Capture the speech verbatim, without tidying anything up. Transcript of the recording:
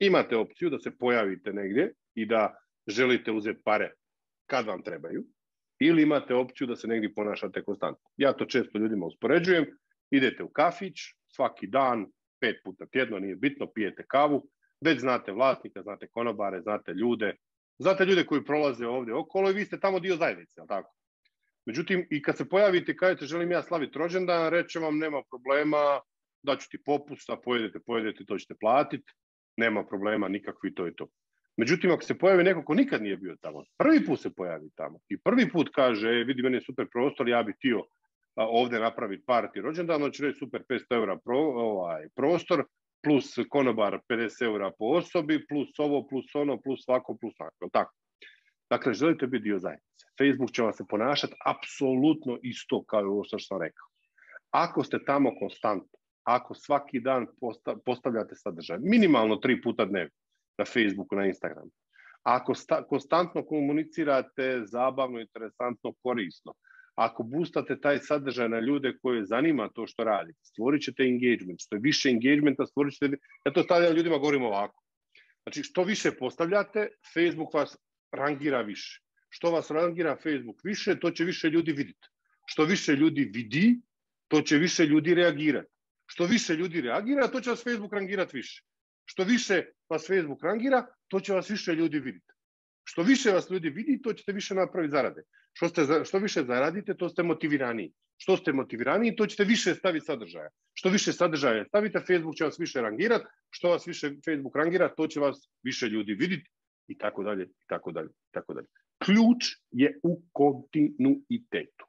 Imate opciju da se pojavite negdje i da želite uzeti pare kad vam trebaju, ili imate opciju da se negdje ponašate konstantno. Ja to često ljudima uspoređujem. Idete u kafić, svaki dan, pet puta tjedno, nije bitno, pijete kavu, već znate vlasnika, znate konobare, znate ljude, znate ljude koji prolaze ovdje okolo i vi ste tamo dio zajednice, tako? Međutim, i kad se pojavite i kažete želim ja slaviti rođendan, reće vam nema problema, daću ti popust, a pojedete, pojedete, to ćete platiti, nema problema nikakvi, to je to. Međutim, ako se pojavi neko ko nikad nije bio tamo, prvi put se pojavi tamo i prvi put kaže, e, vidi, meni je super prostor, ja bih htio ovdje napraviti party rođendan, on će reći super petsto eura pro, ovaj, prostor, plus konobar pedeset eura po osobi, plus ovo, plus ono, plus svako, plus svako. Tako. Dakle, želite biti dio zajednice. Facebook će vam se ponašati apsolutno isto kao ovo što sam rekao. Ako ste tamo konstantno, ako svaki dan postavljate sadržaj, minimalno tri puta dnevno na Facebooku, na Instagramu, ako sta, konstantno komunicirate zabavno, interesantno, korisno, ako boostate taj sadržaj na ljude koje zanima to što radite, stvorit ćete engagement. Što je više engagementa, stvorit ćete... Ja to stavljam ljudima, govorim ovako. Znači, što više postavljate, Facebook vas rangira više. Što vas rangira Facebook više, to će više ljudi vidjeti. Što više ljudi vidi, to će više ljudi reagirati. Što više ljudi reagira, to će vas Facebook rangirati više. Što više vas Facebook rangira, to će vas više ljudi vidjeti. Što više vas ljudi vidi, to ćete više napraviti zarade. Što, ste, što više zaradite, to ste motiviraniji. Što ste motiviraniji, to ćete više staviti sadržaja. Što više sadržaja stavite, Facebook će vas više rangirati. Što vas više Facebook rangira, to će vas više ljudi vidjeti. I tako dalje, i tako dalje, i tako dalje. Ključ je u kontinuitetu.